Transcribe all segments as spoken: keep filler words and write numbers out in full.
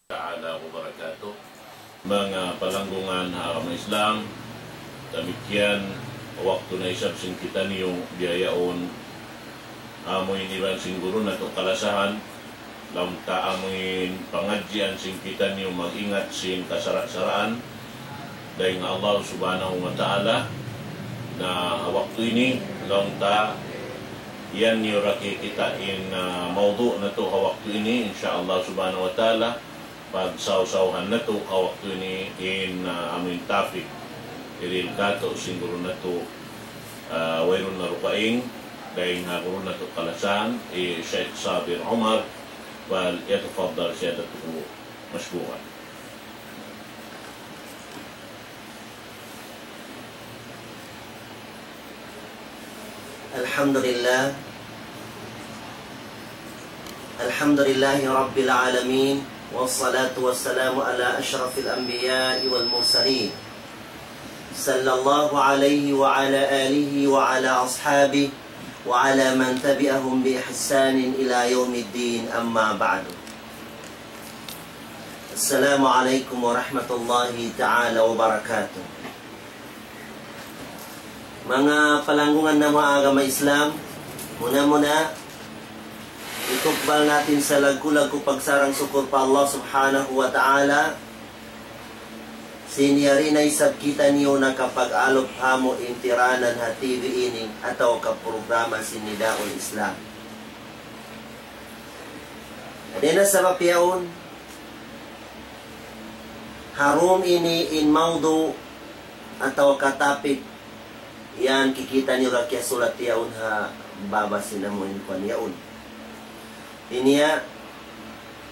Ta'ala wa barakatuh. Manga palanggungan ha agama Islam, damikkiyan waktu na isab sin kitaniyu bihaun, amu in iban sin guru natu' kalasahan, laung ta amu in pangadjian sin kitaniyu mag-ingat sin kasara'-saraan, dayn ha Allah Subhanahu wa Ta'ala. Na ha waktu ini, laung ta, yan niyu ra kikita' in, ah, mawdu' natu' ha waktu ini, insya Allah Subhanahu wa Ta'ala, pagsawsawhan natu' ha waktu ini in, ah, amu in topic. Dihil katu' sin guru natu', ah, wayruun na dugaing, dayn ha guru natu' kalasahan, hi Sheikh Sabir Umar, فليتفضل سيادته مشكورا. الحمد لله. الحمد لله رب العالمين، والصلاة والسلام على أشرف الأنبياء والمرسلين، صلى الله عليه وعلى آله وعلى أصحابه وعلى من تبعهم بإحسان إلى يوم الدين، أما بعد. السلام عليكم ورحمة الله تعالى وبركاته. Manga palanggungan namu' ha agama Islam, muna-muna, itukbal natin sa laggu'-laggu' pagsarang-sukul pa Allah Subhanahu wa Ta'ala, sin yari na isab kitaniyu nakapag-alup ha amu in tiranan ha T V ini atawa ka programa sin Nidaul Islam. Dayn ha sabab yaun, ha dum ini in mawdu' atawa ka topic yan kikita' niyu ra kiyasulat yaun ha baba sin amu in kuwan yaun. Ini ya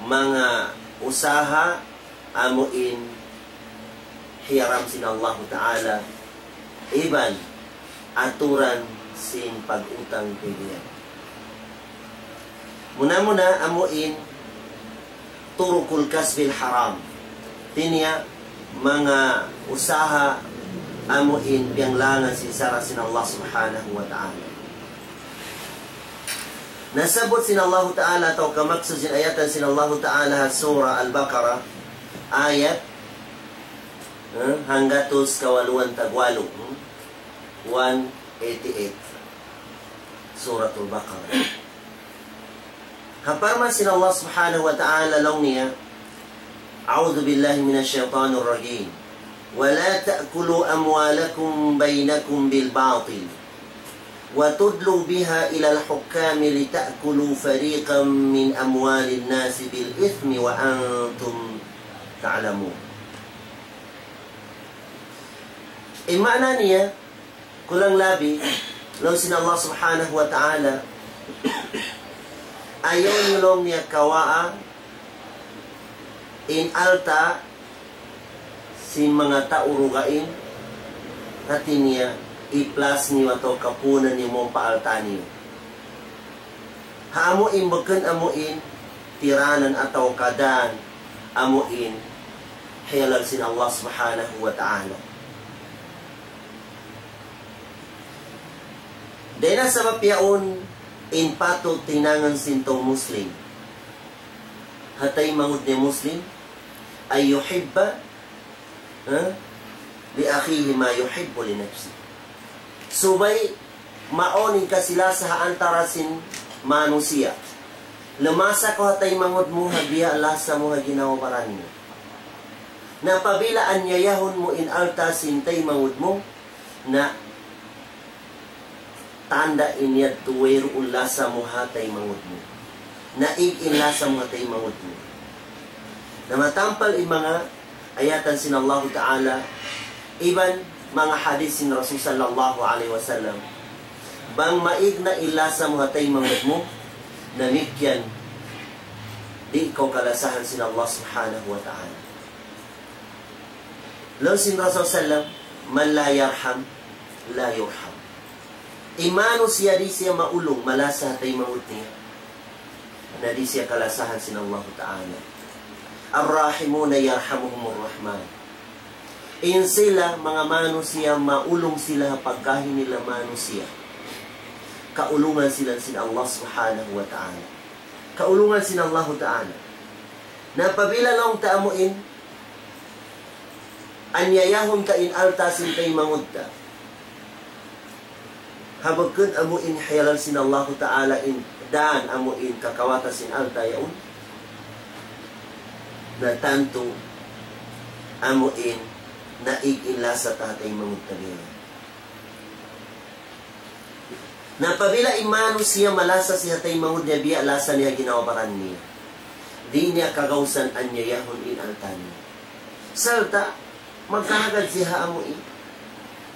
manga usaha amu in hiyaram sin Allahu Ta'ala iban aturan sin pag-utang pilihan. Muna-muna amu in turukul kasbil haram. Ini ya manga usaha amu in piyanglangan sin sara' sin Allah Subhanahu wa Ta'ala. Nasabbut sin Allahu Ta'ala atawa ka maksud sin ayatan sin Allahu Ta'ala ha Surah Al-Baqarah, ayat, eh, hanggatus kawaluan tagwalu, hmm? One eighty-eight. Suratul Baqarah. Ha parman sin Allah Subhanahu wa Ta'ala laung niya, أعوذ بالله من الشيطان الرجيم. ولا تأكلوا أموالكم بينكم بالباطل وتدلوا بها إلى الحكام لتأكلوا فريقا من أموال الناس بالإثم وأنتم تعلمون. In maana niya, kulang labi, laung sin Allah Subhanahu wa Ta'ala, ayaw niyu laung niya kawaa in alta' sin manga tau dugaing, hati niya, i-plus niyu atawa ka puunan niyu mawn pa alta' niyu. Ha amu in bukun amu in tiranan atawa ka dan amu in hiyalal sin Allah Subhanahu wa Ta'ala. Dayn ha sabab yaun in patut hinangun sin tau Muslim, ha taymanghud niya Muslim, أن يحب, ha, لأخيه ما يحب لنفسه. Subay mawn in kasi-lasa ha antara' sin manusiya'. Lamasa kaw ha taymanghud mu ha biya' lasa mu ha ginhawa-baran mu. Na apabila anyayahun mu in alta' sin taymanghud mu, na tanda' in yadtu wayruun lasa mu ha taymanghud mu. Naig in lasa mu ha taymanghud mu. Na matampal in manga ayatan sin Allahu Ta'ala, iban manga hadith sin Rasul sallallahu alayhi wasallam. Bang maig na in lasa mu ha taymanghud mu, damikkiyan di' kaw kalasahan sin Allah Subhanahu wa Ta'ala. Laung sin Rasul sallam, من لا يرحم لا يرحم. In manusiya' di' siya maulung, malasa ha taymanghud niya, na di' siya kalasahan sin Allahu Ta'ala. الراحمون يرحمهم الرحمن. In sila manga manusiya', maulung sila ha pagkahi nila manusiya', kaulungan sila sin Allah Subhanahu wa Ta'ala. Kaulungan sin Allahu Ta'ala. Na apabila laung ta amu in, anyayahun ta in alta' sin taymanghud ta. Ha bukun amu in hiyalal sin Allahu Ta'ala in dan amu in kakawatan sin alta' yaun. Na tantu amu in naig in lasa ta ha taymanghud ta biya' yan. Na apabila in manusiya' malasa siya ha taymanghud niya biya' lasa niya ginhawa-baran niya. Di' niya kagausan anyayahun in alta' niya. Sarta', magkahagad siya ha amu in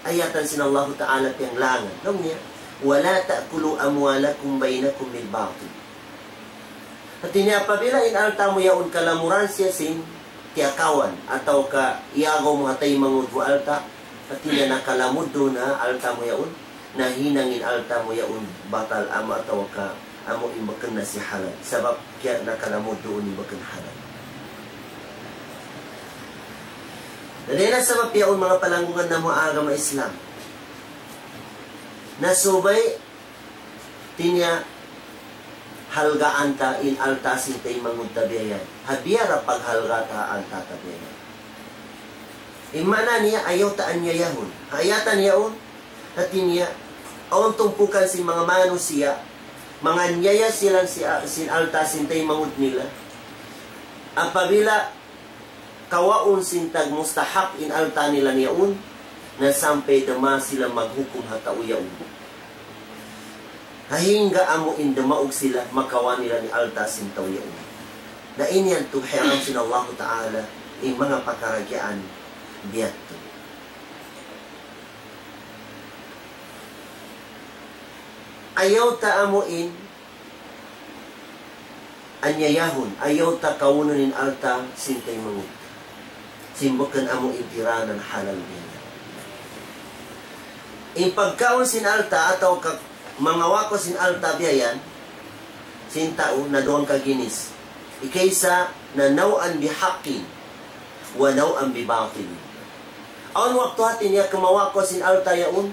ayatan sin Allahu Ta'ala piyanglangan. Laung niya, ولا تأكلوا أموالكم بينكم بالباطل. Hati niya apabila in alta' mu yaun kalamuran siya sin tiyakawan atawa ka iyagaw mu ha taymanghud mu alta', hati niya nakalamud duun ha alta' mu yaun, nahinang in alta' mu yaun batal amu atawa ka amu in bukun na siya halal. Sabab kiya nakalamud duun in bukun halal. Na dayn ha sabab yaun manga palanggungan namu' agama Islam. Na subay hati niya halgaan ta in alta' sin taymanghud ta biya' yan. Ha biya' da paghalga' ta ha alta' ta biya' yan. In maana niya ayaw ta anyayahun. Ha ayatan yaun, hati niya, awn tumpukan sin manga manusiya', manganyaya sila si-, sin alta' sin taymanghud nila. Apabila kawaun sin tagmustahak in alta' nila yaun, na sampay da ma sila maghukum ha tau yaun. Hangga amu in dumaug sila makawa' nila in alta' sin tau yaun. Na ini yan tuud hiyaram sin Allahu Ta'ala in manga pakaradjaan biya' yadtu. Ayaw ta amu in anyayahun, ayaw ta kaunun in alta' sin taymanghud. Sin bukun amu in tiranan halal niya. In pagkaun sin alta' atawa ka mangawa' kaw sin alta' biya' yan, sin tau na duwa ka ginis. Hikaisa na نوعا بحق ونوعا بباطل. Awn waktu hati niya kumawa' kaw sin alta' yaun,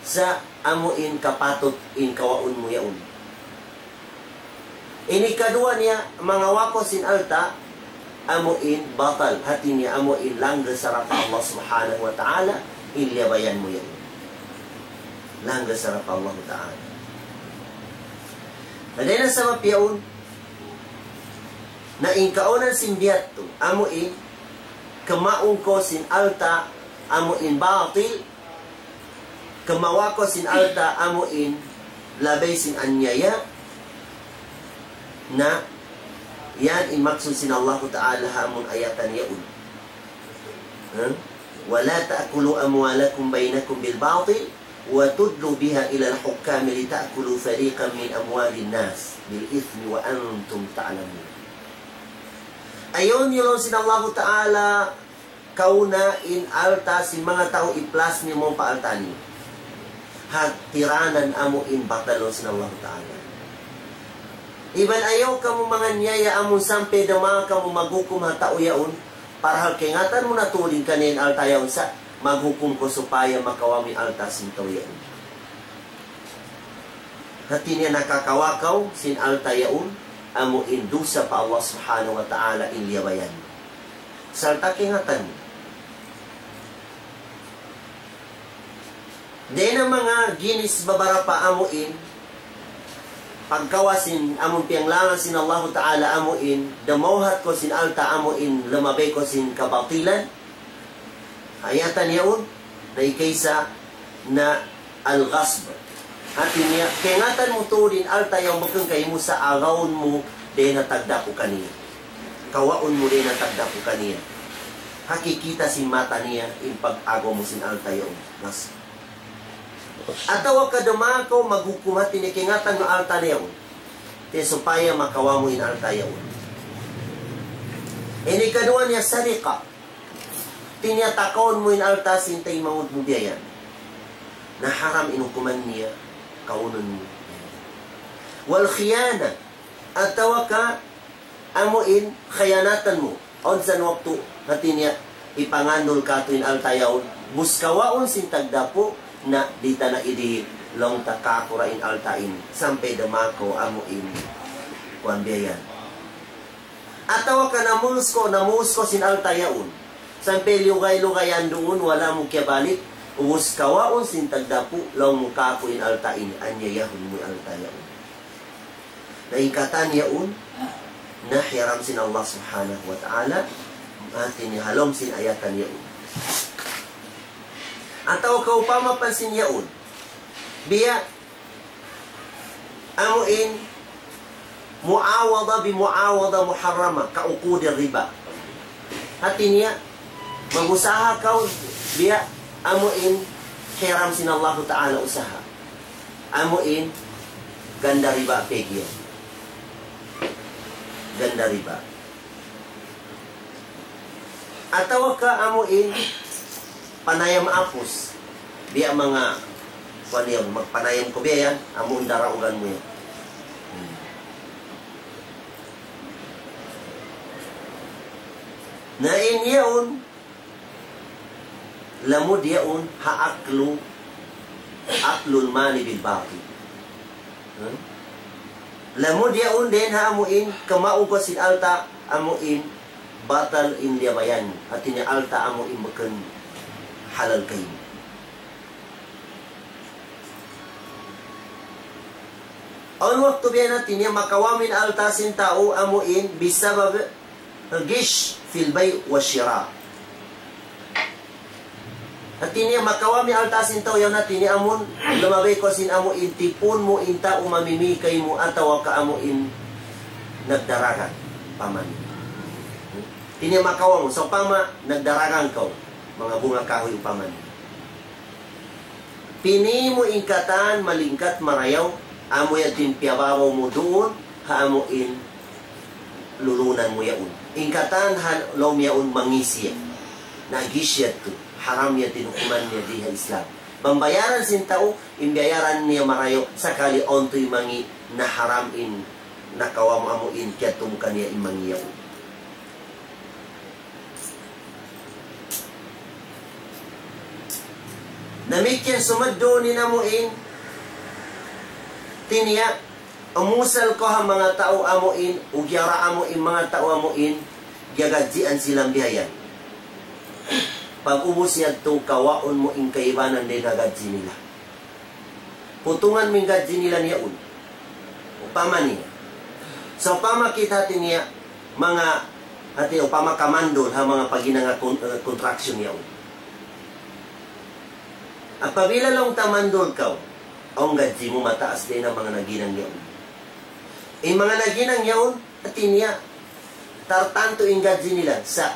sa' amu in kapatut in kawaun mu yaun. In hikaduwa niya, mangawa' kaw sin alta', amu in batal, hati niya amu in langgal sara' pa Allah Subhanahu wa Ta'ala, in liyabayan mu yaun. Langgal sara' pa Allah Ta'ala. Na dayn ha sabab yaun, na in kaawnan sin biya' yadtu, amu in, kumaun kaw sin alta', amu in batil, kumawa' kaw sin alta' amu in labay sin anyaya, na yan in maksud sin Allahu Ta'ala ha amun ayatan yaun. Ha? ولا تأكلوا أموالكم بينكم بالباطل وتدلوا بها إلى الحكام لتأكلوا فريقا من أموال الناس بالإثم وأنتم تعلمون. Ayaw niyu laung sin Allahu Ta'ala kauna in alta' sin manga tau, i-plus niyu mawn pa alta' niyu. Ha tiranan amu in batal laung sin Allahu Ta'ala. Iban ayaw kamu manganyaya amun sampay da ma kamu maghukum ha tau yaun. Parahal kaingatan mu na tuud in kaniya in alta' yaun sa' maghukum kaw supaya makawa' mu in alta' sin tau yaun. Hati niya nakakawa' kaw sin alta' yaun, amu in dusa pa Allah Subhanahu wa Ta'ala in liyabayan. Sarta' kaingatan mu. Dayn ha manga ginis babarapa amu in, pagkawa' sin amun piyanglangan sin Allahu Ta'ala amu in, dumawhat kaw sin alta' amu in, lumabay kaw sin kabatilan, ayatan yaun, na hikaisa na al-ghasb. Hati niya, kaingatan mu tuud in alta' yaun bukun kaymu sa' agawun mu dayn ha tagdapu' kaniya. Kawaun mu dayn ha tagdapu' kaniya. Ha kikita' sin mata niya, in pag-agaw mu sin alta' yaun. Ghasb. Atawa ka da ma kaw maghukum hati niya kaingatan mu alta' yaun. Di' supaya makawa' mu in alta' yaun. Ini kaduwa niya sariqa. Hati niya takawun mu in alta' sin taymanghud mu biya' yan. Na haram in hukuman niya, kaunun mu. Wal khiyana, atawa ka amu in khiyanatan mu. Awn san waktu, hati niya, hipangandul katu' in alta' yaun, bus kawaun sin tagdapu', na di' ta na idihil, laung ta kakura' in alta' ini, sampay da ma kaw amu in, kuwan biya' yan. Atawa ka namuus kaw, namuus kaw sin alta' yaun. Sampay liyugay-lugayan duun, wala' mu kiyabalik, ubus kawaun sin tagdapu', laung mu kāku' in alta' ini, anyayahun mu in alta' yaun. Na in katan yaun, na hiyaram sin Allah Subhanahu wa Ta'ala, hati niya ha lawm sin ayatan yaun. Atawa kaupama pa sin yaun, biya' amu in mu'awada bi mu'awada muharrama ka uqudi riba. Hati niya, mag-usaha kaw biya' amu in hiyaram sin Allahu Ta'ala usaha. Amu in ganda riba peggy. Ganda riba. Atawa ka amu in panayam apus. Biya' manga, kuwan niya, magpanayam kaw biya' yan, amu in daraugan mu yan. Na in yaun, lamud yaun ha aklu, aklul mali bil batil. Hmm? Lamud yaun dayn ha amu in, kamau kaw sin alta' amu in, batal in liyabayan mu. Hati niya alta' amu in bukun halal kaymu. Awn waktu biya' na hati niya makawa' mu in alta' sin tau amu in bisabab ghish fil bay' wa shira. Hati niya makawa' mu in alta' sin tau yaun hati niya amun lumabay kaw sin amu in tipun mu in tau mamimi kaymu atawa ka amu in nagdaragang paman. Hati niya makawa' mu, sawpama nagdaragang kaw, manga bunga kahuy upama niya. Pini mu in katan malingkat marayaw, amu yan in piyababaw mu duun, ha amu in lulunan mu yaun. In katan ha lawm yaun mangisi yan. Na ghish yadtu, haram yan in hukuman niya di ha Islam. Bang bayaran sin tau, in bayaran niya marayaw, sakali awn tuud mangi', na haram in nakawa' mu amu in kiyadtu mu kaniya in mangi' yaun. Damikkiyan sumud duun in amu in, hati niya, umusal kaw ha manga tau amu in, ugiyara amu in manga tau amu in, giyagadjian sila biya' yan. Pag-ubus yadtu, kawaun mu in kaibanan dayn ha gadji nila. Putungan mu in gadji nila niya yaun. Upama niya. Sawpama kita hati niya, manga, hati upama kamandul ha manga paghinang kon-, eh, construction yaun. Apabila laung ta mandul kaw, awn gadji mu mataas dayn ha manga naghinang yaun. In manga naghinang yaun, hati niya, tartantu in gadji nila, sa'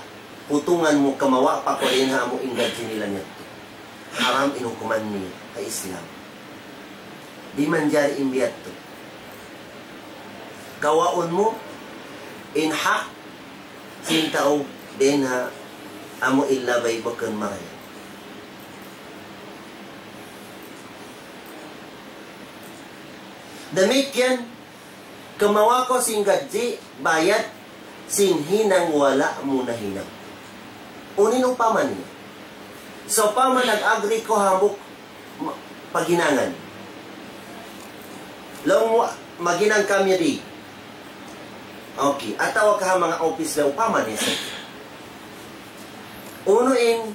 putungan mu kamawa' pa kaw dayn ha amu in gadji nila niya. Haram in hukuman niya ha Islam. Di' manjari in biya' yadtu. Kawaun mu in hak sin tau dayn ha amu in labay bukun marayaw. Damikkiyan, kamawa' kaw sin gadji, bayad, sin hinang wala' mu nahinang. Unu in upama niya? Sawpama nag-agree kaw hambuuk ma-, paghinangan. Laung mu, maghinang kami di. Okay, atawa ka ha manga office na upama niya sa. Unu in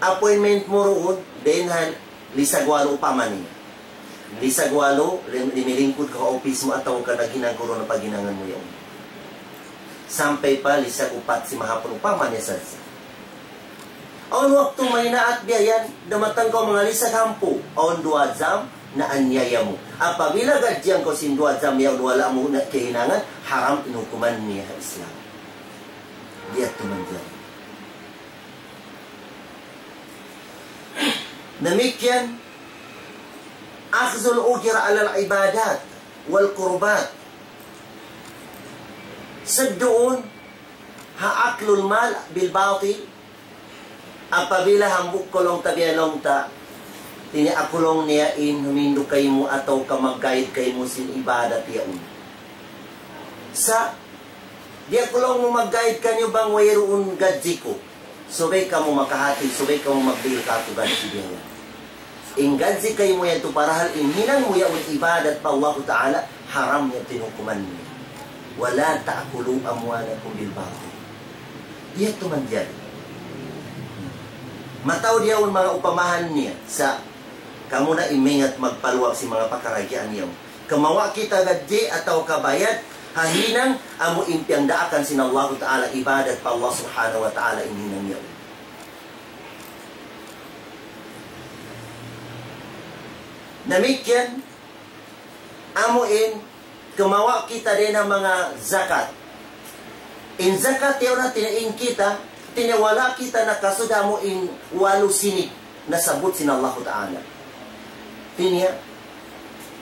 appointment mu duun, dayn ha lisag walu upama niya. Lisag walu, lim-, limilingkud kaw ha office mu atawa ka naghinang kaw duun ha paghinangan mu yaun. Sampay pa lisag upat simahapun upama niya sadja. Awn waktu maynaat biya' yan, dumatang kaw manga lisag hangpu', awn duwa jam, na anyaya mu. Apabila gadjian kaw sin duwa jam yaun wala' mu na kahinangan, haram in hukuman niya ha Islam. Di' yadtu manjari. Damikkiyan, أخذ الأجرة على العبادات والقربات. Sud duun, ha أكل المال بالباطل, apabila hambuuk kaw laung ta biya' laung ta, hati niya aku laung niya in humindu kaymu atawa ka mag-guide kaymu sin ibadat yaun. Sa' di' aku laung mu mag-guide kaniyu bang wayruun gadji ku. Subay kamu makahati, subay kamu magdihil kāku' gadji biya' yan. In gadji kaymu yadtu parahal in hinang mu yaun ibadat pa Allahu Ta'ala, haram yadtu in hukuman niya. ولا تأكلوا أموالكم بالباطل. Di' yadtu manjari. Mataud yaun manga upamahan niya sa' kamu na in maingat magpaluag sin manga pakaradjaan yaun. Kumawa' kita gaji atawa ka bayad, ha hinang amu in piyagdaakan sin Allahu Ta'ala ibadat pa Allah Subhanahu wa Ta'ala in hinang yaun. Damikkiyan, amu in kumawa' kita dayn ha manga zakat. In zakat yaun na tiniing kita, tiniwala' kita nakasud ha amu in walu sinip nasabbut sin Allahu Ta'ala. Tiniya,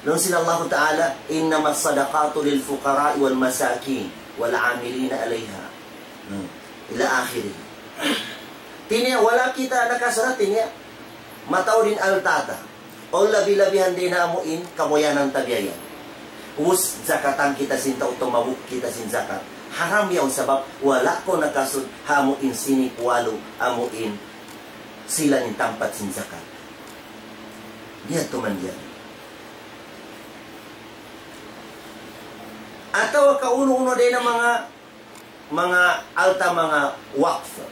laung sin Allahu Ta'ala, إنما الصدقات للفقراء والمساكين والعاملين عليها. Hmm. Ila akhirih. Tiniya, wala' kita nakasud ha tiniya. Mataud in alta' ta. O labi-labihan dayn ha amu in kabuyanan ta biya' yan. Ubus zakatan kita sin tau tumabuk kita sin zakat. Haram yaun sabab wala' kaw nakasud ha amu in sinip walu amu in sila in tampat sin zakat. Di' yadtu manjari. Atawa ka unu-unu dayn ha manga manga alta' manga waqf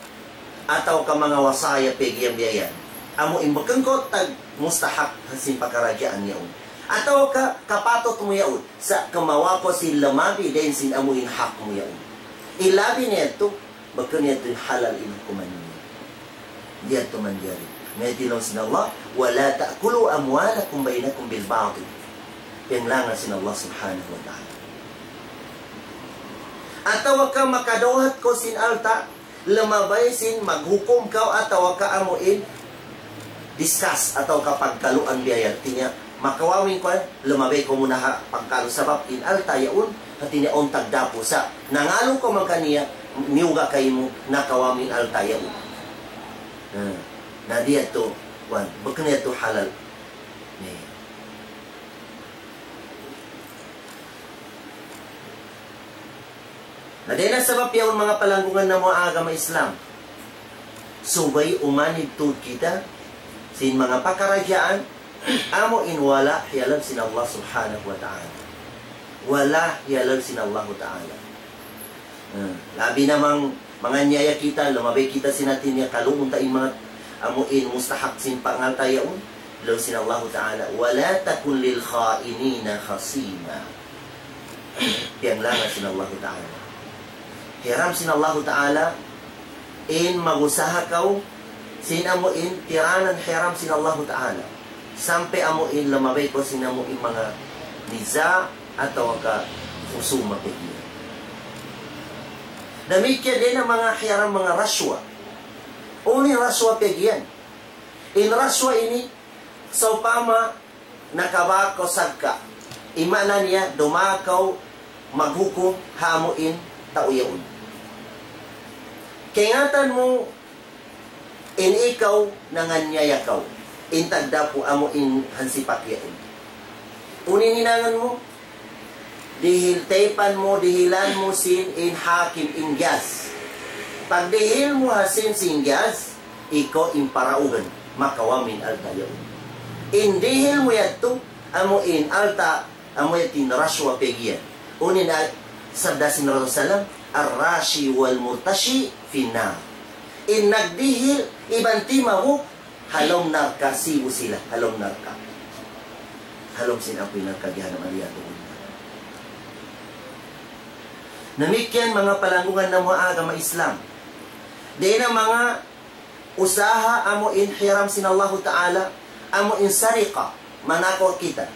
atawa ka manga wasaya pag'iyan biya' yan. Amu in bukun kaw tagmustahak sin pakaradjaan yaun. Atawa ka kapatut mu yaun sa' kumawa' kaw sin lumabi dayn sin amu in hak mu yaun. In labi niya yadtu, bukun niya yadtu in halal in hukuman niya. Di' yadtu manjari. Mayta' laung sin Allah, ولا تأكلوا أموالكم بينكم بالباطل. Piyanglangan sin Allah Subhanahu wa Ta'ala. Atawa ka makadawhat kaw sin alta', lumabay sin maghukum kaw atawa ka amu in discuss atawa ka pagkaluan biya' yan. Tiniya, makawawin kaw, lumabay kaw muna ha pagkalu sabab in alta' yaun, hati niya untag dapu sa'. Nangalu kaw man kaniya, miyuga' kaymu, nakawa' mu in alta' yaun. Hmm. Na di' yadtu, wan, bukun yadtu halal. Ni. Na dayn ha sabab yaun manga palanggungan namu' agama Islam. Subay umanid tuud kita sin manga pakaradjaan amu in wala' hiyalal sin Allah Subhanahu wa Ta'ala. Wala' hiyalal sin Allahu Ta'ala. Hmm. Labi na mang-, manganiyaya kita, lumabay kita sin hati niya, kaluun ta in manga amu in mustahak sin pangalta' yaun. Laung sin Allahu Ta'ala, ولا تكن للخائنين خصيما. Piyanglangan sin Allahu Ta'ala. Hiram sin Allahu Ta'ala, in mag-usaha kaw, sin amu in tiranan hiram sin Allahu Ta'ala. Sampay amu in lumabay kaw sin amu in manga niza' atawa ka husuma pag'iyan. Damikkiyan dayn ha manga hiram manga rashwa. Unu in rashwa pag'iyan? In rashwa ini, sawpama nakabak kaw sadka. In maana niya, dumā kaw maghukum ha amu in tau yaun. Kaingatan mu in ikaw nanganiyaya kaw. In tagdapu amu in hansipak yaun. Unu in hinangun mu? Dihil taypan mu, dihilan mu sin in hakim in judge. Pagdihil mu ha sin sin judge, ikaw in paraugan, makawa' mu in alta' yaun. In dihil mu yadtu, amu in alta', amu yadtu in rashwa pag'iyan. Unu in a-, sabda sin Rasul sallam, الراشي والمرتشي في النار. In nagdihil, iban timabuk, ha lawm narka', sibu' sila, ha lawm narka'. Ha lawm sin api narka' jahannam, والعياذ بالله. Damikkiyan manga palanggungan namu' agama Islam. Dayn ha manga usaha amu in hiram sin Allahu Ta'ala, amu in sariqa, manakaw kita.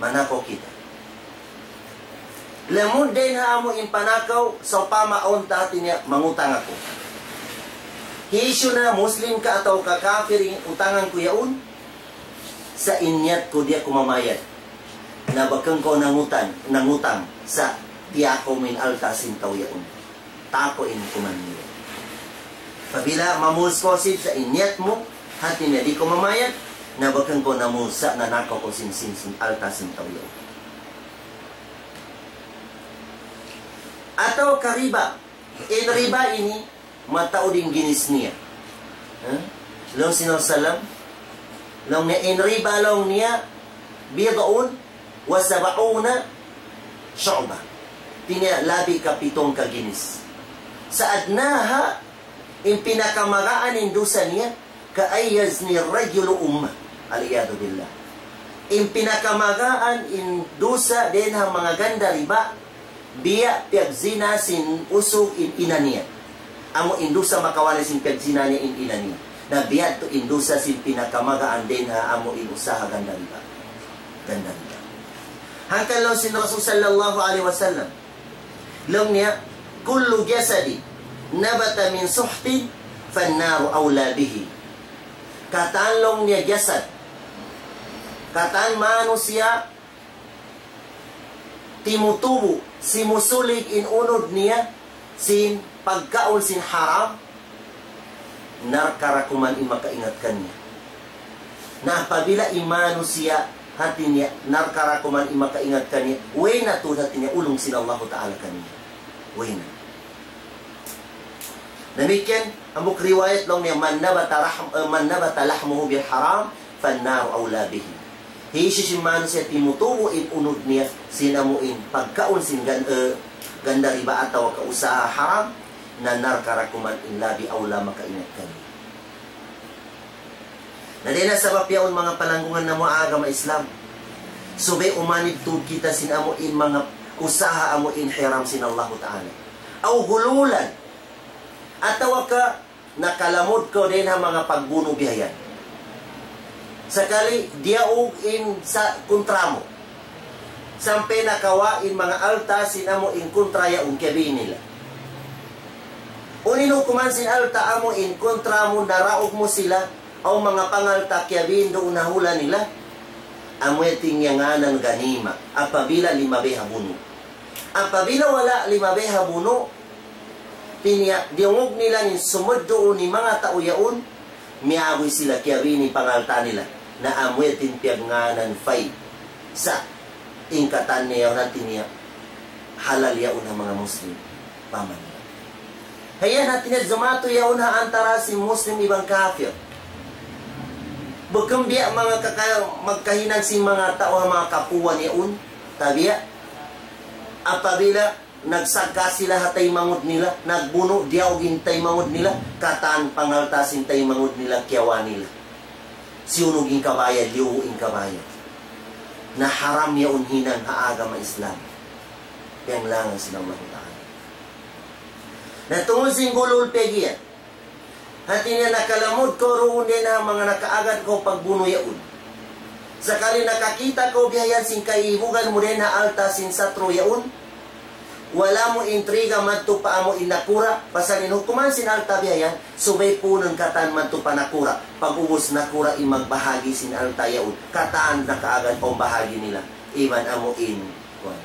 Manakaw kita. Lamud dayn ha amu in panakaw, sawpama awn ta hati niya mangutang aku. Hisiyu na, Muslim ka atawa ka kafir in utangan ku yaun, sa' in niyat ku di' aku mamayad. Na bukun kaw nangutang, nangutang, sa' tiyakaw mu in alta' sin tau yaun. Takaw in hukuman niya. Apabila mamūs kaw sin sa' in niyat mu, hati niya di' kaw mamayad, na bukun kaw namūs sa' nanakaw kaw sin, sin, sin alta' sin tau yaun. Atawa ka riba. In riba ini, mataud in ginis niya. Ha? Laung sin Rasul sallam, laung niya, in riba laung niya, بضع وسبعون شعبة. niya labi kapitung ka ginis. Sa adnaha, in pinakamagaan in dusa niya, كأن يزني الرجل أمه. العياذ بالله. In pinakamagaan in dusa dayn ha manga ganda riba, biya' piyagzina sin usug in ina niya. Amu in dusa makawali sin piyagzina niya in ina niya. Na biya' tu in dusa sin pinakamagaan dayn ha amu in usaha ganda riba. Ganda riba. Hangkan laung sin Rasul sallallahu alayhi wasallam, laung niya, كل جسد نبت من سحت فالنار أولى به. Katan laung niya jasad, katan manusiya' timutubu', simusulig in unud niya sin pagkaun sin haram, narka ra kuman in makaingat kaniya. Na apabila in manusiya', hati niya, narka ra kuman in makaingat kaniya, way na tuud, hati niya, ulung sin Allahu Ta'ala kaniya. Way na. Damikkiyan, hambuuk riwayat laung niya, من نبت رحم-, eh, من نبت لحمه بالحرام فالنار أولى به. Hisiyu-siyu in manusiya' timutubu' in unud niya sin amu in pagkaun sin gan-, eh, ganda riba atawa ka usaha haram, na narka ra kuman in labi awla makaingat kaniya. Na dayn ha sabab yaun, manga palanggungan namu' ha agama Islam, subay umanib tuud kita sin amu in manga usaha amu in hiram sin Allahu Ta'ala. أو غلولا, atawa ka nakalamud kaw dayn ha manga pagbunu' biya' yan. Sakali diyaug in sa kontra mu. Sampay nakawa' in manga alta' sin amu in kontra yaun kiyabiin nila. Unu in hukuman sin alta' amu in kontra mu, naraug mu sila, aw manga pangalta' kiyabiin duun ha hula' nila? Amu yan in ngānan ganima, apabila limabay ha bunu'. Apabila wala' limabay ha bunu', hati niya, diyungug nila in sumud duun in manga tau yaun, miyaguy sila kiyabiin in pangalta' nila. Na amu yan in piyagngānan fay. Sa' in katan niya yaun, hati niya, halal yaun ha manga Muslim. Paman. Hangkan hati niya jumatu yaun ha antara' sin Muslim iban kafir. Bukun biya' manga kaka-, magkahinang sin manga tau ha manga kapuan yaun. Tabiya'. Apabila nagsagka' sila ha taymanghud nila, nagbunu', diyaug in taymanghud nila, katan pangalta' sin taymanghud nila, kiyawa' nila. Siyunug in kabayad, liyubu' in kabayad. Na haram yaun hinang ha agama Islam. Piyanglangan sin Allahu Ta'ala. Na tungud sin gulul piyag-iyan. Hati niya nakalamud kaw duun dayn ha manga nakaagad kaw pagbunu' yaun. Sakali nakakita' kaw biya' yan sin kaibugan mu dayn ha alta' sin satru' yaun, wala' mu intriga madtu pa amu in nakura', pasal in hukuman sin alta' biya' yan, subay puunun katan madtu pa nakura', pag'ubus nakura' in magbahagi' sin alta' yaun, katan nakaagad kaw bahagi' nila, iban amu in, kuwan.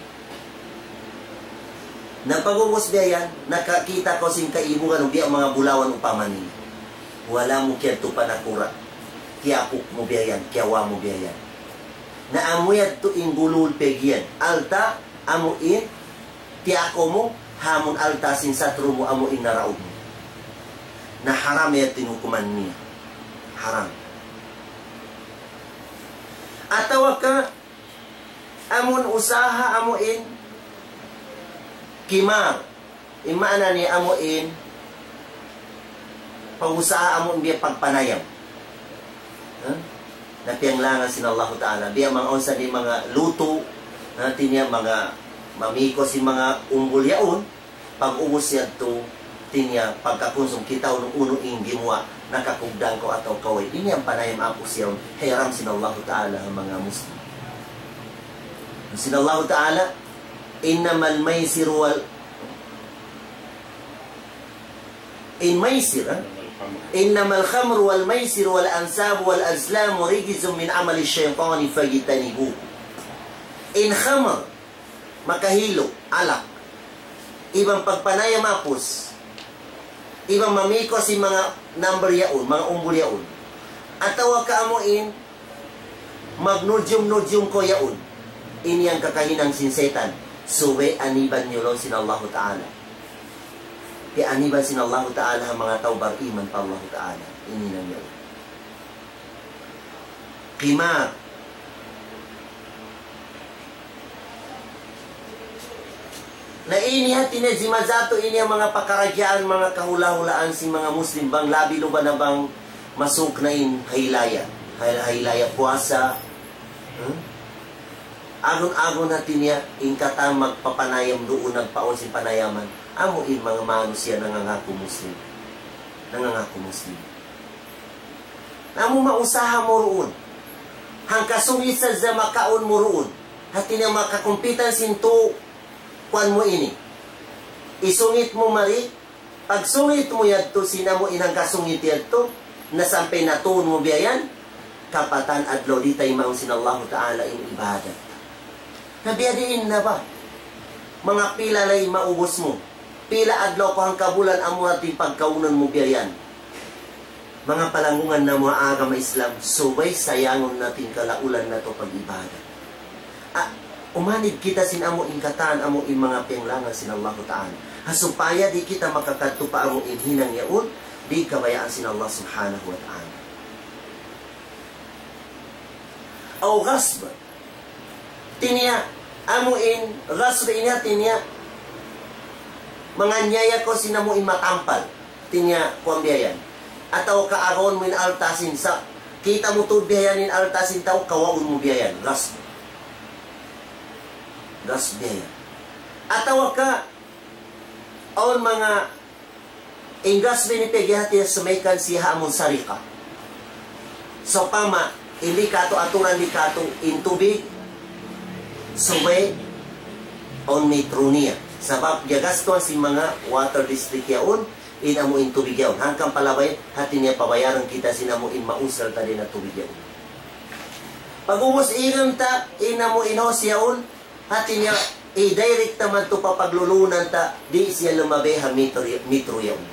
Na pag'ubus biya' yan, nakakita' kaw sin kaibugan, biya' manga bulawan upama niya. Wala' mu kiyadtu pa nakura'. Tiyapuk mu biya' yan, kiyawa' mu biya' yan. Na amu yadtu in gulul piyag-iyan. Alta', amu in, tiyakaw mu, ha amun alta' sin satru' mu, amu in naraug mu. Na haram yadtu in hukuman niya. Haram. Atawa ka, amun usaha amu in kimar. In maana niya amu in pag-usaha amu in biya' pagpanayam. Ha? Na piyanglangan sin Allahu Ta'ala. Biya' manga unsa di' manga lutu', hati niya manga mamiko' sin manga umbul yaun, pag'ubus yadtu, hati niya pagkakunsum kita unu-unu in gimuwa', nakakugdan kaw atawa ka way. Ini in panayam apus yaun, hiram sin Allahu Ta'ala ha manga Muslim. Sin Allahu Ta'ala, إنما الميسر وال-, in maisir, ha? إنما الخمر والميسر والأنصاب والأزلام رجس من عمل الشيطان فاجتنبوه. In khamr, makahilu, alak. Iban pagpanayam apus. Iban mamiko' sin manga number yaun, manga umbul yaun. Atawa ka amu in, magnujum-nujum kaw yaun. Ini yan kakahinang sin setan. Subay aniban niyu laung sin Allahu Ta'ala. Kiyaniban sin Allahu Ta'ala ha manga tau bariman pa Allahu Ta'ala. Ini na yan. Qimar. Na ini hati niya jimajatu ini in manga pakaradjaan, manga kahula-hulaan sin manga Muslim, bang labi luba na bang masuk na in hailaya. Hay-, hailaya puasa. Hmm? Agun-agun hati niya, in katan magpapanayam duun, nagpaawn sin panayaman. Amu in manga manusiya' nangangaku Muslim. Nangangaku Muslim. Amu mausaha mu duun. Hangka sungit sadja makaun mu duun. Hati niya makakumpitan sin tu kuwan mu ini. Isungit mu mari, pagsungit mu yadtu sin amu in hangka sungit yadtu, na sampay natuun mu biya' yan, kapatan adlaw di' taymaun sin Allahu Ta'ala in ibadat. Na biya' diin na ba? Manga pila lay maubus mu. Pila adlaw ku hangka bulan amu hati pagkaunun mu biya' yan. Manga palanggungan namu' ha agama Islam, subay sayangun natu' in kalaulan natu' pag-ibadat. Ah, umanid kita sin amu in katan, amu in manga piyanglangan sin Allahu Ta'ala. Ha supaya di' kita makakadtu pa amu in hinang yaun, di' kabayaan sin Allah Subhanahu wa Ta'ala. Aw ghasb. Hati niya, amu in ghasb ini hati niya, manganyaya kaw sin amu in matampal. Hati niya, kuwan biya' yan. Atawa ka agarun mu in alta' sin sa, kita' mu tuud biya' yan in alta' sin tau, kawaun mu biya' yan. Ghasb. Ghasb biya' yan. Atawa ka, awn manga in ghasb ini piyagihati niya samaykan siya ha amun sariqa. Sawpama, in di' katu' aturan di' katu' in tubig, subay awn metro niya. Sabab, giyagastuhan sin manga water district yaun, in amu in tubig yaun. Hangkan palabay, hati niya pabayaran kita sin amu in mausal ta dayn ha tubig yaun. Pag'ubus igan ta, in amu in hose yaun, hati niya, i-direct ta madtu pa paglulunan ta, di' siya lumabi ha metro, metro yaun.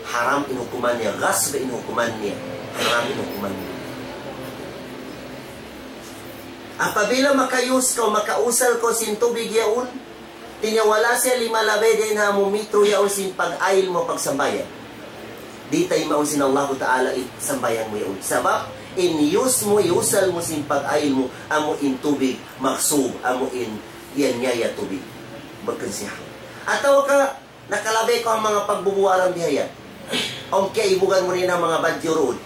Haram in hukuman niya, ghasb in hukuman niya. Haram in hukuman niya. Apabila maka-use kaw, makausal kaw sin tubig yaun, hati niya wala' siya limalabi dayn ha amu metro yaun sin pag-ayil mu pagsambahayang. Di' taymaun sin Allahu Ta'ala in sambahayang mu yaun. Sabab, in use mu, iusal mu sin pag-ayil mu, amu in tubig, maksub, amu in yan niya ya tubig. Bukun siya. Atawa ka, nakalabi kaw ha manga pagbubuaran biya' yan. Awn kiyaibugan mu dayn ha manga badju' duun.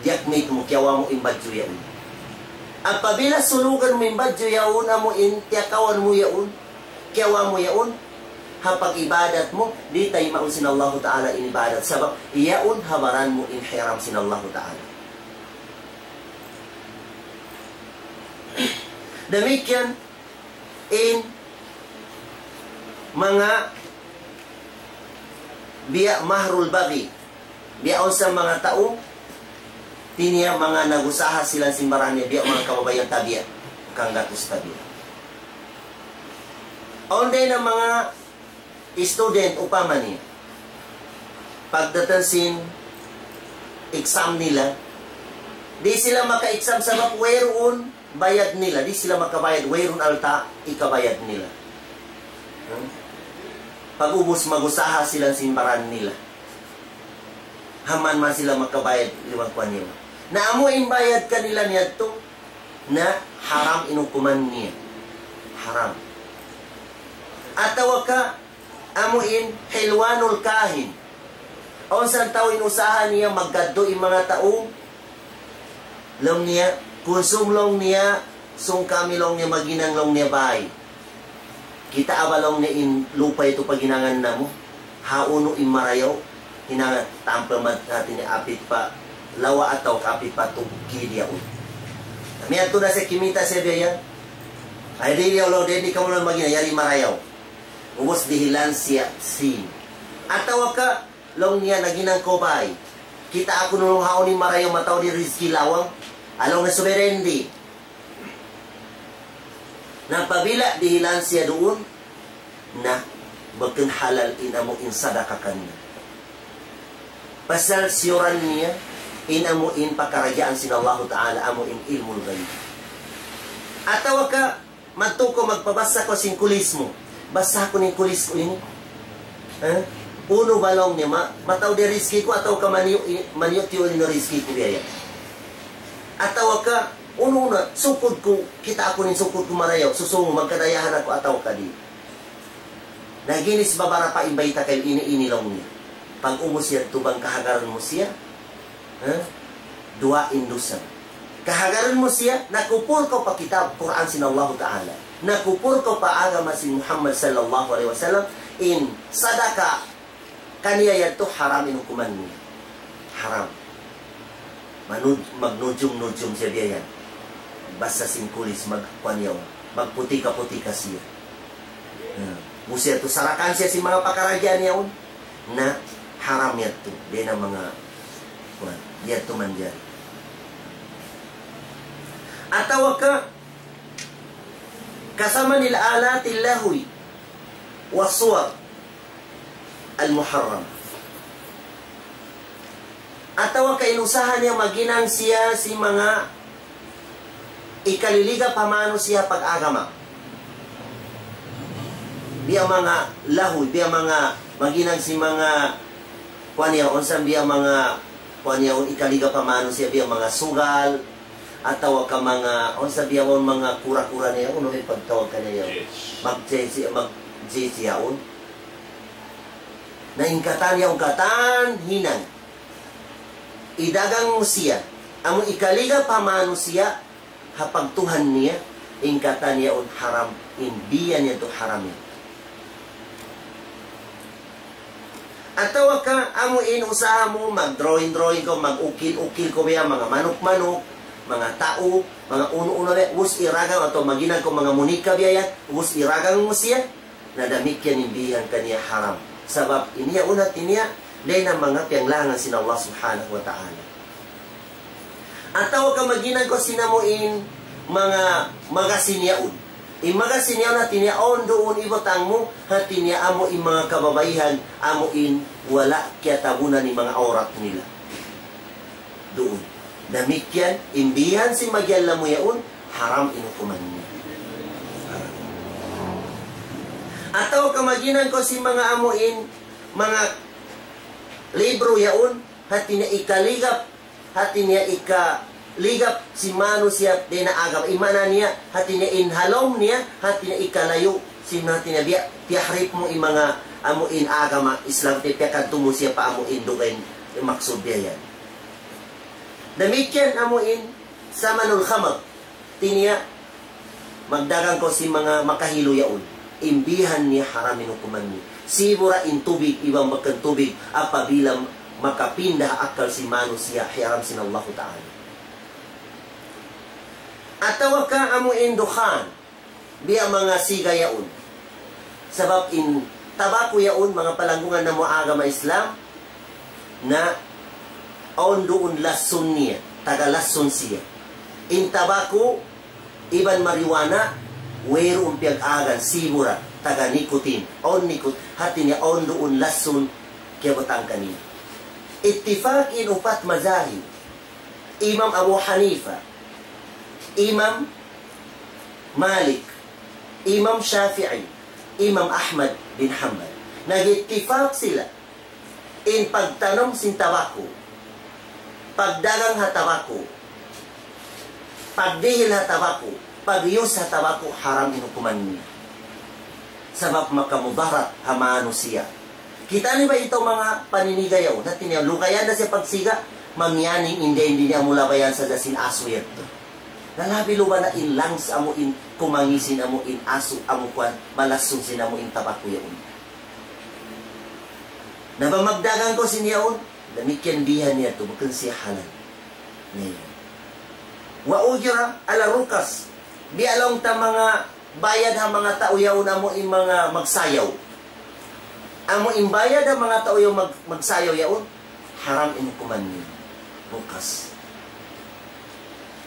Diyakmit mu, kiyawa' mu in badju' yaun. Apabila sulugan mu in badju' yaun, amu in tiyakawan mu yaun, kiyawa' mu yaun, ha pag-ibadat mu, di' taymaun sin Allahu Ta'ala in ibadat. Sabab, yaun ha baran mu in hiram sin Allahu Ta'ala. Damikkiyan in manga biya' mahrul baghi. Biya' awn sa manga tau, hati niya manga nag-usaha sila sin baran niya, biya' manga kababaihan ta biya', kanggatus ta biya'. Awn dayn ha manga student, upama niya. Pagdatung sin exam nila, di' sila maka-exam sabab wayruun bayad nila, di' sila makabayad, wayruun alta' ikabayad nila. Hmm? Pag'ubus mag-usaha sila sin baran nila. Haman man sila makabayad liwag kuwan niya. Na amu in bayad kanila niyadtu, na haram in hukuman niya. Haram. Atawa ka, amu in hilwanul kahin. Awn sa tau in usaha niya maggadtu' in manga tau. Laung niya, kunsum laung niya, sung kami laung niya, maghinang laung niya bay. Kitaa ba laung niya in lupa' yadtu paghinangan namu'. Ha unu in marayaw, hinanga tampal mat hati niya apit pa lawa' atawa ka apit pa tugkid yaun. Miyadtu na siya kimita' siya biya' yan. Ay, di' yaw laung, di' kamu laung maghinang, yari marayaw. Ubus dihilan siya sin. Atawa ka, laung niya naghinang kaw bay. Kitaa ku laung ha unu in marayaw mataud in rizki lawang. Laung niya subay di'. Na apabila dihilan siya duun, na bukun halal in amu in sadaka kaniya. Pasal siyuran niya, in amu in pakaradjaan sin Allahu Ta'ala, amu in ilmul ghaib. Atawa ka, madtu kaw magpabassa kaw sin kulis mu. Bassa ku in kulis ku ini. Eh? Unu ba laung niya, ma-, mataud in rizki ku atawa ka maniyu', maniyu' tiyu' in rizki ku biya' yan. Atawa ka, unu na, sukud ku, kitaa ku in sukud ku marayaw, susungu, magkadayahan aku atawa ka di'. Naginis babarapa in bayta' kaymu ini, ini laung niya. Pag-ubus yadtu bang kahagaran mu siya, ha? Duwa in dusa. Kahagaran mu siya, nakupur kaw pa kitab Qur'an sin Allahu Ta'ala. Nakupur kaw pa agama sin Muhammad sallallahu alayhi wasallam, in sadaka kaniya yadtu haram in hukuman niya. Haram. Manud-, magnujum-nujum siya biya' yan. Basa sin kulis, magkuan yaun. Magputika-putika siya. Hmm. Musti yadtu sarakan siya sin manga pakaradjaan yaun. Na haram yadtu. Di' na manga, kuan, yadtu manjari. Atawa ka, كثمن آلات اللهو والصور المحرمة. Atawa ka in usaha niya maghinang siya sin manga ikaliligap pa manusiya' pag-agama. Biya' manga lahwi, biya' manga maghinang sin manga kuan niya, unsa biya' manga kuan niya, ikaliligap pa manusiya', biya' manga sugal, atawa ka manga, unsa biya' yaun manga kura-kura niya, unu in pagtawag kaniya yaun? Mag-, mag-, yaun. Na in katan yaun, katan hinang. Idagang mu siya, amu ikaliga pa manusiya', ha pagtuhan niya, in katan yaun haram, in biya' niya tu haram yan. Atawa ka, amu in usaha mu, mag-drawing-drawing kaw, mag-ukil-ukil kaw biya', manga manuk-manuk, manga tau, manga unu-unu biya', ubus iragang atawa maghinang kaw manga munika biya' yan, ubus iragang mu siya, na damikkiyan in bihan kaniya haram. Sabab in yaun hati niya, dayn ha manga piyanglangan sin Allah Subhanahu wa Ta'ala. Atawa ka maghinang kaw sin amu in manga magasin yaun. In magasin yaun hati niya awn duun ibutang mu, hati niya amu in manga kababaihan, amu in wala' kiyatabunan in manga awrat nila. Duun. Damikkiyan, in bihan sin magyallamu yaun, haram in hukuman niya. Atawa ka maghinang kaw sin manga amu in, manga libro yaun, hati niya ikaligap, hati niya ikaligap sin manusiya' dayn ha agama. In maana niya, hati niya in ha lawm niya, hati niya ikalayu' sin, hati niya biya', piyahrip mu in manga amu in agama Islam, hati piyakadtu mu siya pa amu in dugaing maksud biya' yan. Damikkiyan amu in samanul khamar. Hati niya, magdagang kaw sin manga makahilu yaun. In bihan niya haram in hukuman niya. Sibu' ra in tubig, iban bukun tubig, apabila makapinda ha akal sin manusiya', hiyaram sin Allahu Ta'ala. Atawa ka amu in dukhan, biya' manga siga yaun. Sabab in tabaku yaun, manga palanggungan namu' agama Islam, na awn duun lasun niya, taga lasun siya. In tabaku, iban marijuana, wayruun piyag-agan, sibu' ra, taga nicotine, awn nicot-, hati niya awn duun lasun kiyabutang kaniya. Ittifaq in upat mazahib, Imam Abu Hanifa, Imam Malik, Imam Shafi'i, Imam Ahmad bin Hanbal. Nag-ittifaq sila in pagtanum sin tabaku, pagdagang ha tabaku, pagdihil ha tabaku, pag-use ha tabaku, haram in hukuman niya. Sabab makamudarat ha manusiya'. Kita' niyu ba ita manga paniniga yaun, hati niya lugayan na siya pagsiga, mamiyaning in dayn di niya amu labayan sadja sin asu yadtu. Na labi luba na in lungs amu in kumangi' sin amu in asu, amu kuwan, malasun sin amu in tabaku yaun. Na bang magdagang kaw sin yaun, damikkiyan bihan niya tu, bukun siya halal. Niya. Wa ujira ala rukas. Biya' laung ta manga bayad ha manga tau yaun amu in manga magsayaw. Amu in bayad ha manga tau yaun mag-, magsayaw yaun, haram in hukuman niya. Bukas.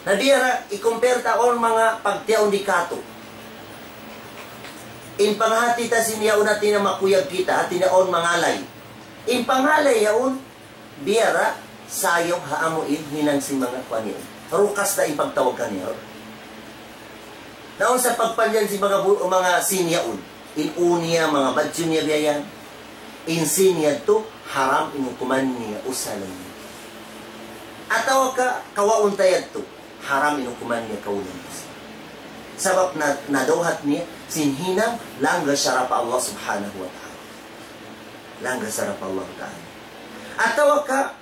Na biya' ra, i-compare ta awn manga pagtiyaun di katu'. In panghati ta sin yaun hati niya makuyag kita, hati niya awn mangalay. In pangalay yaun, biya' ra sayaw ha amu in hinang sin manga kuwan yaun. Rukas da in pagtawag kaniya. Naun sa pagpanjan sin manga bu-, manga sin yaun. In ū niya, manga badju niya biya' yan. In sin yadtu, haram in hukuman niya, usalan niya. Atawa ka, kawaun ta yadtu, haram in hukuman niya, kaulan niya. Sabab na, nadawhat niya sin hinang langgal sara' pa Allah Subhanahu wa Ta'ala. Langgal sara' pa Allah Ta'ala. Atawa ka,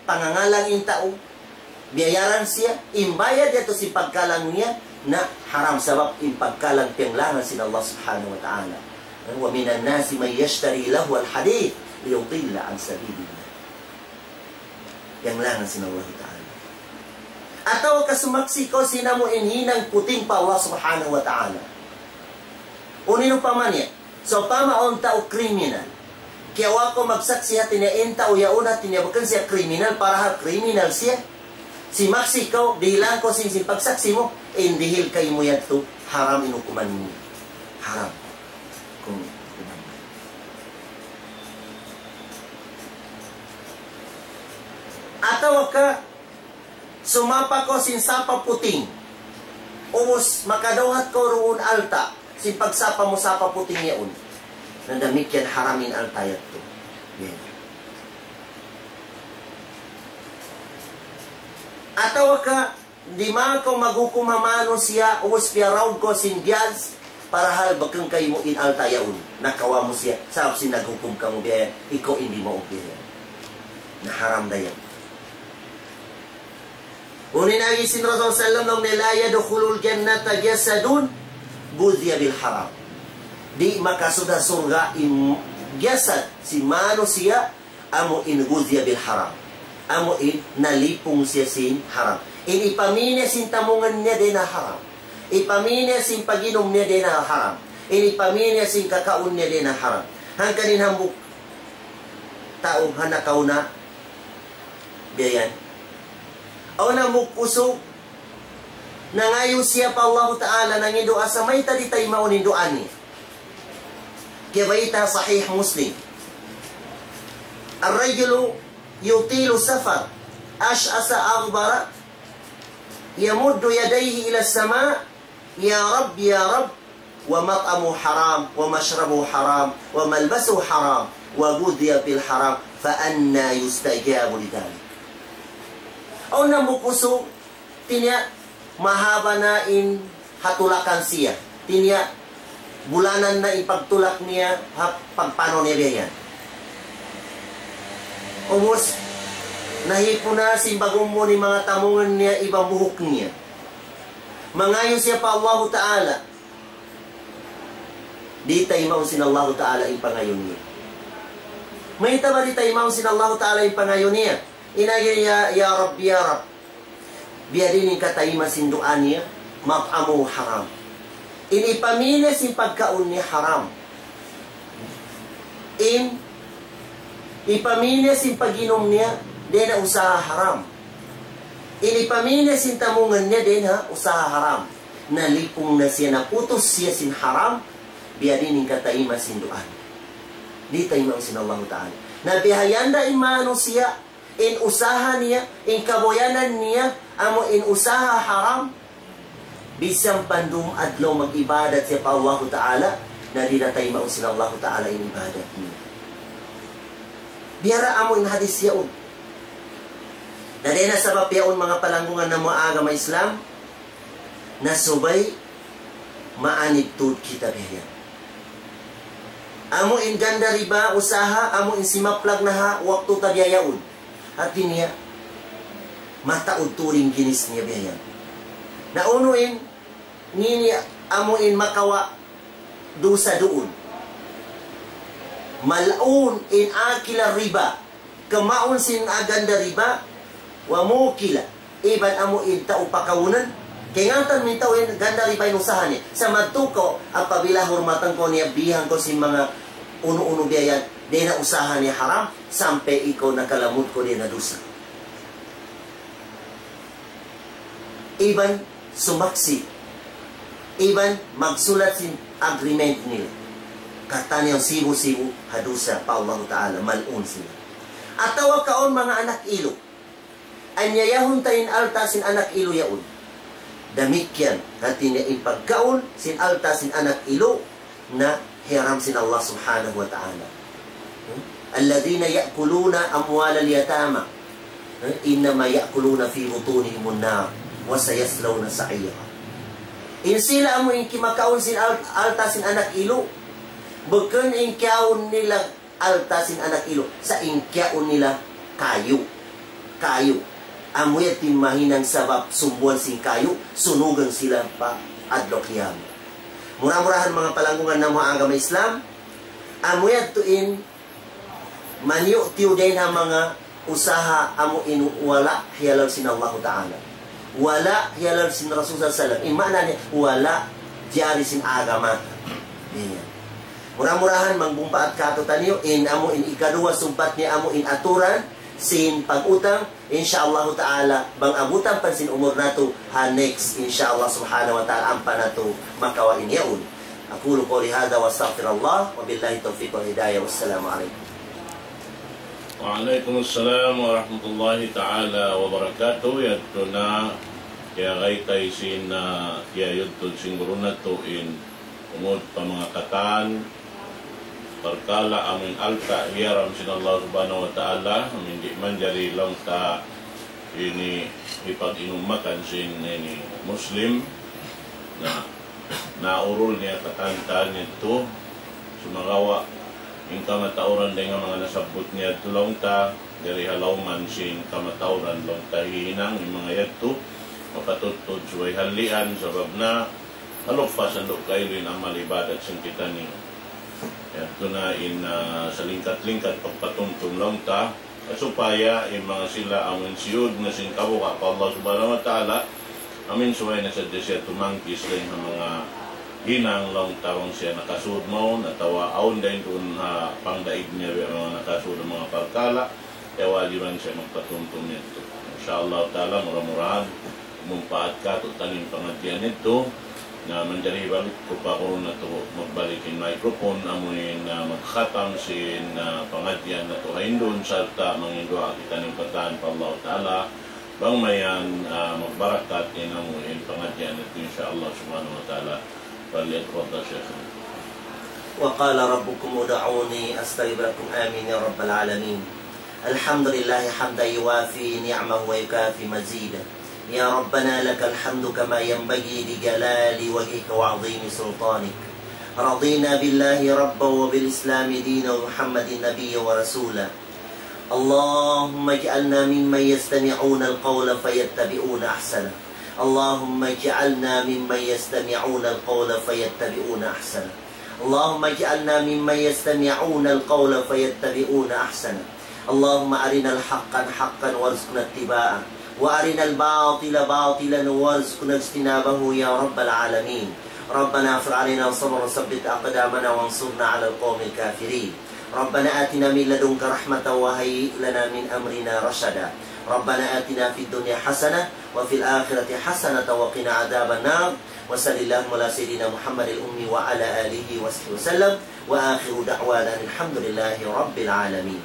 pangangalang in tau, biyayaran siya, in bayad yadtu sin pagkalang niya, na haram sabab in pagkalang piyanglangan sin Allah Subhanahu wa Ta'ala. ومن الناس من يشتري لهو الحديث ليضل عن سبيل الله. Piyanglangan sin Allah Ta'ala. Atawa ka sumaksi' kaw sin amu in hinang puting pa Allah Subhanahu wa Ta'ala. Unu in upama niya, sawpama awn tau kriminal. Kiyawa' kaw magsaksi' hati niya in tau yaun, hati niya bukun siya kriminal, parahal kriminal siya. Simaksi' kaw, dihilan kaw sin, sin pagsaksi' mu, in dihil kaymu yadtu, haram in hukuman mu. Haram. Kung hukuman mu. Atawa ka, sumapa kaw sin sapa puting. Ubus makadawhat kaw duun alta'. Sin pagsapa mu sapa puting yaun. Na damikkiyan haram in alta' yadtu. Yan. Atawa ka, di' man kaw maghukum ha manusiya', ubus piyaraug kaw sin biyaz, parahal bukun kaymu in alta' yaun. Nakawa' mu siya, sabab sin naghukum kamu biya' yan, ikaw in di' maug biya' yan. Na haram da yan. Unu in agi sin Rasul sallam, laung niya, لا يدخل الجنة جسد غذي بالحرام. Di' makasud ha surga' in jasad sin manusiya' amu in غذي بالحرام. Amu in nalipung siya sin haram. In ipamī niya sin tamungan niya dayn ha haram. Ipamī niya sin pag-inum niya dayn ha haram. In ipamī niya sin kakaun niya dayn ha haram. Hangkan in hambuuk tau ha nakauna, biya' yan. Awn hambuuk usug, nangayu' siya pa Allahu Ta'ala, nangayu' duwaa, sa' mayta' di' taymaun in duwaa niya. Kiyabayta' ha Sahih Muslim. الرجل يطيل السفر أشعث أغبر يمد يديه إلى السماء يا رب يا رب ومطعمه حرام ومشربه حرام وملبسه حرام وغذي بالحرام فأنى يستجاب لذلك. Awn hambuuk usug, hati niya, mahaba' na in ha tulakan siya. Hati niya, bulanan na in pagtulak niya, ha pagpanaw niya biya' yan. Ubus, nahipun na sin bagummun in manga tamungan niya iban buhuk niya. Mangayu' siya pa Allahu Ta'ala. Di' taymaun sin Allahu Ta'ala in pangayu' niya. Mayta' ba di' taymaun sin Allahu Ta'ala in pangayu' niya? In agi niya, يا رب يا رب. Biya' diin in katayma' sin duwaa niya, مطعمه حرام. In ipamī niya sin pagkaun niya haram. In ipamī niya sin pag-inum niya, dayn ha usaha haram. In ipamī niya sin tamungan niya, dayn ha usaha haram. Nalipung na siya, naputus siya sin haram, biya' diin in katayma' sin duwaa niya. Di' taymaun sin Allahu Ta'ala. Na bihayan da in manusiya', in usaha niya, in kabuyanan niya, amu in usaha haram, bisan pa dum adlaw mag-ibadat siya pa Allahu Ta'ala, na di' na taymaun sin Allahu Ta'ala in ibadat niya. Biya' da amu in hadis yaun. Na dayn ha sabab yaun manga palanggungan namu' agama Islam, na subay maanid tuud kita biya' yan. Amu in ganda riba, usaha, amu in simaplag na ha waktu ta biya' yaun. Hati niya, mataud tuud in ginis niya biya' yan. Na unu in, ini amu in makawa' dusa duun. ملعون إن أكل الربا. Kamaun sin ganda riba, وموكله. Iban amu in tau pakawunan, kaingatan mu in tau in ganda riba in usaha niya. Sa' madtu kaw, apabila hurmatan kaw niya, bihan kaw sin manga unu-unu biya' yan, dayn ha usaha niya haram, sampay ikaw nakalamud kaw dayn ha dusa. Iban sumaksi', iban magsulat sin agreement nila. Katan yan sibu'-sibu' ha dusa pa Allahu Ta'ala, mal'un sila. Atawa kaun manga anak ilu'. Anyayahun ta in alta' sin anak ilu' yaun. Damikkiyan, hati niya in pagkaun sin alta' sin anak ilu' na hiyaram sin Allah Subhanahu wa Ta'ala. Hmm? الذين يأكلون أموال اليتامى إنما يأكلون في بطونهم النار وسيصلون سعيرا. In sila amu in kimakaun sin al-, alta' sin anak ilu. Bukun in kiyaun nila alta' sin anak ilu. Sa' in kiyaun nila kayu. Kayu. Amu yadtu in mahinang sabab sumbuan sin kayu, sunugun sila pa adlaw qiyamah. Mura-murahan manga palanggungan namu' ha agama Islam, amu yadtu in maniyu'-tiyu' dayn ha manga usaha amu in wala' hiyalal sin Allahu Ta'ala. Wala' hiyalal sin Rasul sallallahu alayhi wasallam. In maana niya, wala' jari sin agama. Yan. Mura-murahan mangbumpaat katu'taniyu in amu in ikaduwa sumpat niya amu in aturan sin pag-utang. Insya Allah Ta'ala, bang abutan pa sin umur natu', ha next, insya Allah Subhanahu wa Ta'ala, ampa natu' makawa' in yaun. أقول قولي هذا وأستغفر الله، وبالله التوفيق والهداية، والسلام عليكم. Wa alaykum assalam warahmatullahi ta'ala wabarakatuh. Yadtu na, kiyagaytay sin, ah, kiyayudtud sin guru natu' in tungud pa manga katan parkala' amu in alta' hiyaram sin Allah Subhanahu wa Ta'ala, amu in di' manjari laung ta ini hipag-inum makan sin ini Muslim. Na, naurul niya katan-katan yadtu, sumagawa' in kamatauran dayn ha manga nasabbut niya yadtu laung ta, jari ha lawm sin kamatauran laung ta hihinang in manga yadtu, mapatudtud subay hallian, sabab na, halupa sandu' kailu in amal ibadat sin kitaniyu. Yadtu na in, ah, salingkat-lingkat pagpatumtum laung ta, supaya in manga sila amu in siyud na sin kabuga' pa Allah Subhanahu wa Ta'ala, amu in subay na sadja siya tumangkis dayn ha manga hinang laung ta bang siya nakasud mawn, atawa awn dayn duun ha pangdaig niya biya' manga nakasud manga parkala', ya wajiban siya magpatumtum yadtu. Insya Allah Ta'ala, mura-murahan, mumpaat katu'taniyu in pangadjian yadtu, na manjari balik ku pa guru natu' magbalik in microphone, amu in, ah, magkhatam sin, ah, pangadjian natu' ha indun, sarta' manginduwaa kitaniyu katan pa Allah Ta'ala, bang mayan, ah, magbarakat in amu in pangadjian yadtu, insya Allah Subhanahu wa Ta'ala. فليتفضل شيخنا. وقال ربكم ادعوني أستجب لكم. آمين يا رب العالمين. الحمد لله حمدا يوافي نعمه ويكافي مزيده. يا ربنا لك الحمد كما ينبغي لجلال وجهك وعظيم سلطانك. رضينا بالله ربا وبالإسلام دينا ومحمد نبيا ورسولا. اللهم اجعلنا ممن يستمعون القول فيتبعون أحسنه. اللهم اجعلنا ممن يستمعون القول فيتبعون أحسنه. اللهم اجعلنا ممن يستمعون القول فيتبعون أحسنه. اللهم أرنا الحق حقا وارزقنا اتباعه، وأرنا الباطل باطلا وارزقنا اجتنابه يا رب العالمين. ربنا أفرغ علينا صبرا وثبت أقدامنا وانصرنا على القوم الكافرين. ربنا آتنا من لدنك رحمة وهيئ لنا من أمرنا رشدا. ربنا آتنا في الدنيا حسنة وفي الآخرة حسنة وقنا عذاب النار. وصل اللهم على سيدنا محمد الأمي وعلى آله وصحبه وسلم. وآخر دعوانا أن الحمد لله رب العالمين.